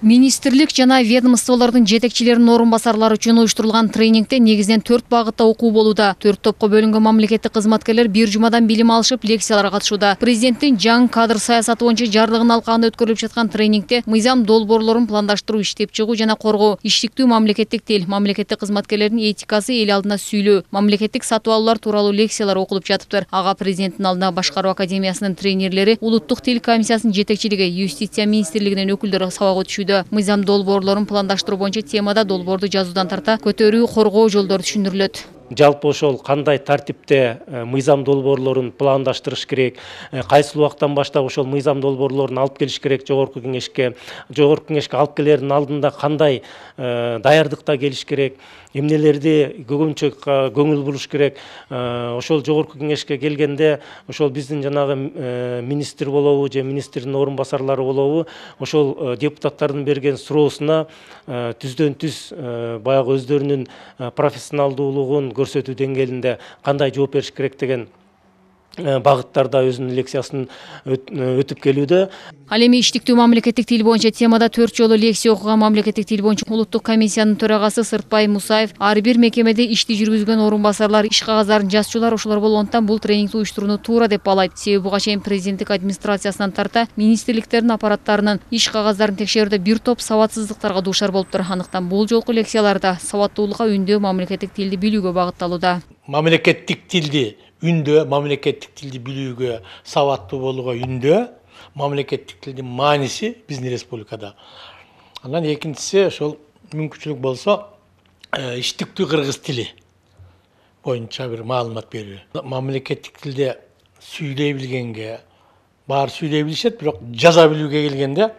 Министрлик жана ведомстволордун жетекчилеринин орун басарлары үчүн уюштурулган тренингде негизинен 4 багытта окуу болууда. 4 топко бөлүнгөн мамлекеттик кызматкерлер бир жумадан билим алышып, лекцияларга катышууда. Президенттин жаңы кадр саясаты боюнча жарлыгын алкагында өткөрүлүп жаткан тренингде мыйзам долбоорлорун пландаштыруу, иштеп чыгуу жана коргоо, иштиктүү мамлекеттик тил, мамлекеттик кызматкерлердин этикасы, эл алдында сүйлөө, мамлекеттик сатып алуулар тууралуу лекциялар окулуп жатыптыр. Ага президенттин алдына Башкаруу академиясынын тренерлери, Улуттук тил комиссиясынын жетекчилиги, Юстиция министрлигинин өкүлдөрү сабак өтүшүүдө. Мыйзам долбоорлорун пландаштыруу боюнча темада долбоорду жазуудан тарта көтөрүү, коргоо жолдору түшүндүрүлөт. Жалпы ошол кандай тартипте мыйзам долбоорлорун пландаштырыш керек, кайсы убактан баштап ошол мыйзам долбоорлорун алып келиш керек жогорку кеңешке алып келердин алдында кандай даярдыкта келиш керек, эмнелерди көбүнчө көңүл буруш керек. Ошол жогорку кеңешке келгенде ошол биздин жанагы министр болобу же министрдин орун басарлары болобу ошол депутаттардын берген суроосуна түздөн түз баягы өздөрүнүн профессионалдуулугун көрсөтүү деңгээлинде кандай жооп бериш керек деген багыттарда өзүнүн лекциясын өтүп келүүдө. Ал эми иштиктүү мамлекеттик тил боюнча темада 4 жолу лекция окуган мамлекеттик тил боюнча Улуттук комиссиянын төрагасы Сыртбай Мусаев, ар бир мекемеде ишти жүргүзгөн орун басарлар, иш кагаздарын жазчулар ошолор болгондуктан бул тренингди уюштурууну туура деп баалайт. Себеби буга чейин президенттик администрациясынан тарта министрликтердин аппараттарынын иш кагаздарын текшерүүдө бир топ сабатсыздыктарга дуушар болуптур. Андыктан бул жолку лекцияларда сабаттуулукка үндөө мамлекеттик тилди билүүгө багытталууда. Мамлекеттик тилди үндөө, мамлекеттик тилди билүүгө, сабаттуу болууга үндөө, мамлекеттик тилдин мааниси биздин республикада. Андан экинчиси ошол мүмкүнчүлүк болсо иштиктүү кыргыз тили боюнча бир маалымат берүү. Мамлекеттик тилде сүйлөй билгенге баары сүйлөй билишет, бирок жаза билүүгө келгенде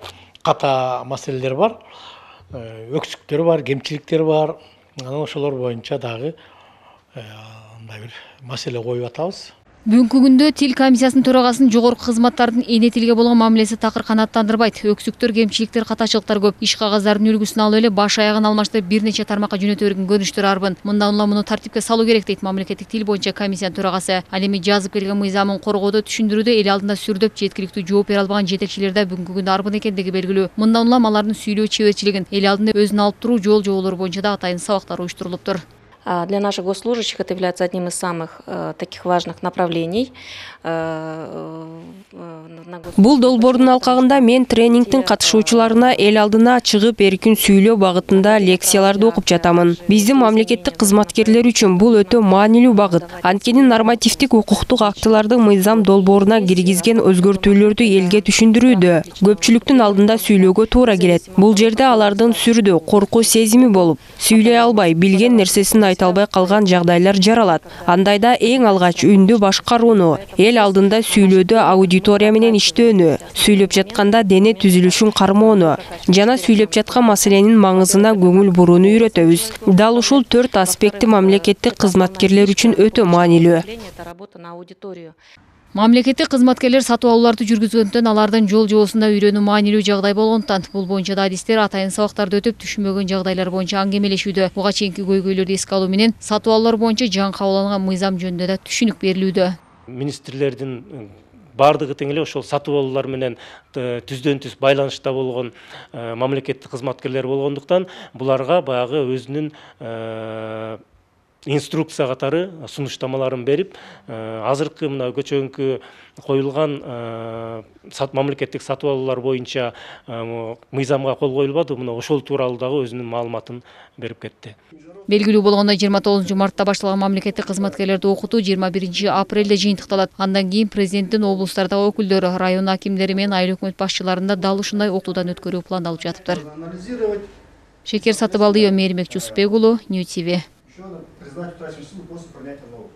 ката маселелер бар, өксүктөр бар, кемчиликтер бар. Анан ошолор боюнча дагы мындай бир маселе коюп атабыз. Бүгүнкү күндө тил комиссиясынын төрагасынын жогорку кызматтардын эне тилге болгон мамилеси такыр канааттандырбайт. Өксүктөр, кемчиликтер, катачылыктар көп. Иш кагаздардын үлгүсүн алып эле баш аягын алмаштырып бир нече тармакка жөнөтө берген көрүнүштөр арбын. Мындан улам муну тартипке салуу керек дейт мамлекеттик тил боюнча комиссиянын төрагасы. Ал эми жазып келген мыйзамын коргоодо, түшүндүрүүдө эл алдында сүрдөп жеткиликтүү жооп бере албаган жетекчилер да бүгүнкү күндө арбын экендиги белгилүү. Мындан улам алардын сүйлөө чеберчилигин, эл алдында өзүн алып туруу жол-жоболору боюнча да атайын сабактар уюштурулуптур. Для наших госслужащих это является одним из самых таких важных направлений. Бул долбоордун алкагында мен тренингдин катышуучуларына эл алдына чыгып эркин сүйлөө багытында лекцияларды окуп жатамын. Биздин мамлекеттик кызматкерлер үчүн бул өтө маанилүү багыт. Анткени нормативдик укуктук актылардын мыйзам долбооруна киргизген өзгөртүүлөрдү элге түшүндүрүүдө, көпчүлүктүн алдында сүйлөөгө туура келет. Бул жерде алардын сүрдө, коркуу сезими болуп, сүйлөй албай, билген нерсесин айта албай калган жагдайлар жаралат. Андайда эң алгач үндү башкарууну, эл алдында сүйлөөдө аудитория менен иштөөнү, сүйлөп жатканда дене түзүлүшүн кармоону жана сүйлөп жаткан маселенин маңызына көңүл бурууну үйрөтөбүз. Дал ушул 4 аспекти мамлекеттик кызматкерлер үчүн өтө маанилүү. Мамлекеттик кызматкерлер сатып алууларды жүргүзгөндөн алардын жол-жобосунда үйрөнүү маанилүү жагдай болгондуктан бул боюнча да адистер атайын сабактарды өтүп, түшүнбөгөн жагдайлар боюнча аңгемелешүүдө. Буга чейинки көйгөйлөрдү эске алуу менен сатып алуулар боюнча жаңы кабыл алынган мыйзам жөнүндө да түшүнүк берилүүдө. Министрлердин бардыгы тең эле ошол сатып алуулар менен түздөн түз байланышта болгон мамлекеттик кызматкерлер болгондуктан буларга баягы өзүнүн инструкция катары сунуштамаларын берип, азыркы мына көчөгүнкү коюлган мамлекеттик сатып алуулар боюнча мыйзамга кол коюлбады, мына ошол тууралуу дагы өзүнүн маалыматын берип кетти. Белгилүү болгондой 29 мартта башталган мамлекеттик кызматкерлерди окутуу 21 апрелде жыйынтыкталат. Андан кийин президенттин облустардагы өкүлдөрү, район акимдери менен айыл өкмөт башчыларында дал ушундай окутуудан өткөрүү пландалып жатыптыр. Шекер Сатыбалдиева, Мээримбек Жусупбек уулу, Нью ТВ. Признать утраченную силу после принятия новых.